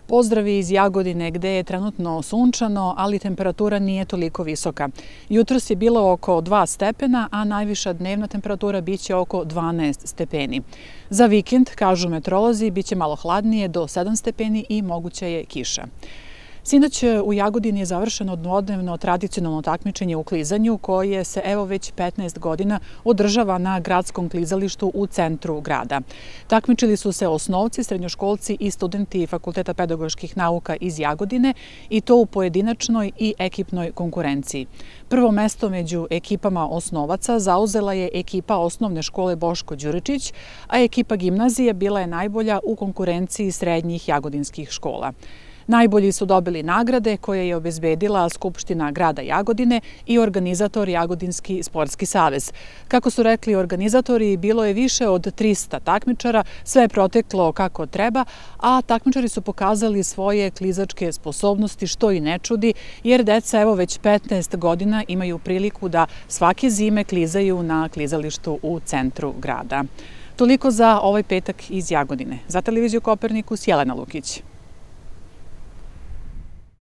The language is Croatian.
Pozdravi iz Jagodine gde je trenutno sunčano, ali temperatura nije toliko visoka. Jutros je bilo oko 2 stepena, a najviša dnevna temperatura biće oko 12 stepeni. Za vikend, kažu meteorolozi, biće malo hladnije do 7 stepeni i moguća je kiša. Sinoć u Jagodini je završeno dvodnevno tradicionalno takmičenje u klizanju koje se evo već 15 godina održava na gradskom klizalištu u centru grada. Takmičili su se osnovci, srednjoškolci i studenti Fakulteta pedagoških nauka iz Jagodine i to u pojedinačnoj i ekipnoj konkurenciji. Prvo mesto među ekipama osnovaca zauzela je ekipa osnovne škole Boško Đuričić, a ekipa gimnazije bila je najbolja u konkurenciji srednjih jagodinskih škola. Najbolji su dobili nagrade koje je obezbedila Skupština grada Jagodine i organizator Jagodinski sportski savez. Kako su rekli organizatori, bilo je više od 300 takmičara, sve je proteklo kako treba, a takmičari su pokazali svoje klizačke sposobnosti, što i ne čudi, jer deca evo već 15 godina imaju priliku da svake zime klizaju na klizalištu u centru grada. Toliko za ovaj petak iz Jagodine. Za televiziju Kopernikus, Jelena Lukić.